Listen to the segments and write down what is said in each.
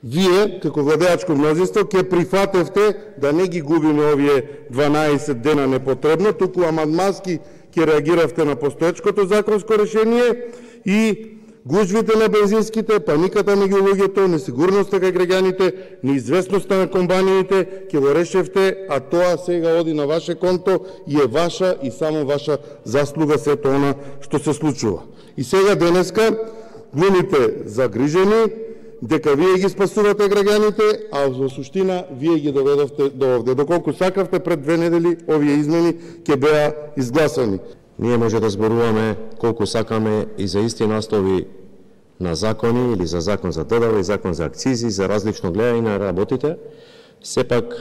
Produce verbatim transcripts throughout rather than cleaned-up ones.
Вие, како владеачко мнозинство, ќе прифатевте да не ги губиме овие дванаесет дена непотребно, туку амандмански ќе реагиравте на постоечкото законско решение и гужвите на бензинските, паниката меѓу луѓето, несигурноста кај граѓаните, неизвестноста на компаниите, ќе го решевте, а тоа сега оди на ваше конто и е ваша и само ваша заслуга сето она што се случува. И сега денеска глумите загрижени дека вие ги спасувате граѓаните, а во суштина вие ги доведовте до овде. Доколку сакавте пред две недели овие измени ќе беа изгласани. Ние може да зборуваме колку сакаме и за исти наслови на закони или за закон за ДДВ и закон за акцизи, за различно гледање на работите, сепак,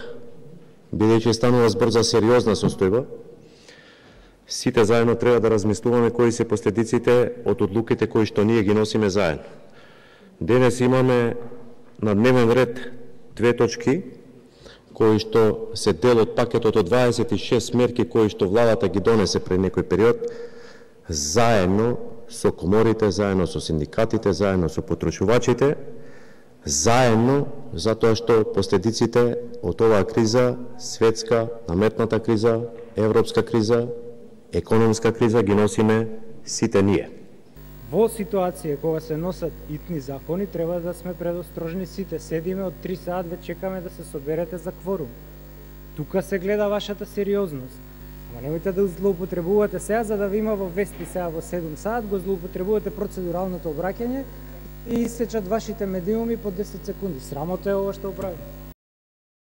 бидејќи станува збор за сериозна состојба, сите заедно треба да размислуваме кои се последиците од одлуките кои што ние ги носиме заедно. Денес имаме на дневен ред две точки, кои што се дел од пакетот од дваесет и шест мерки кои што владата ги донесе пред некој период, заедно со коморите, заедно со синдикатите, заедно со потрочувачите, заедно затоа што последиците од оваа криза, светска, наметната криза, европска криза, економска криза ги носиме сите ние. Во ситуација кога се носат итни закони, треба да сме предострожни сите. Седиме од три саат, ве чекаме да се соберете за кворум. Тука се гледа вашата сериозност. Ама немојте да злоупотребувате сега, за да ви има во вести сега во седум саат, го злоупотребувате процедуралното обраќање и исечат вашите медиуми по десет секунди. Срамота е ова што правите.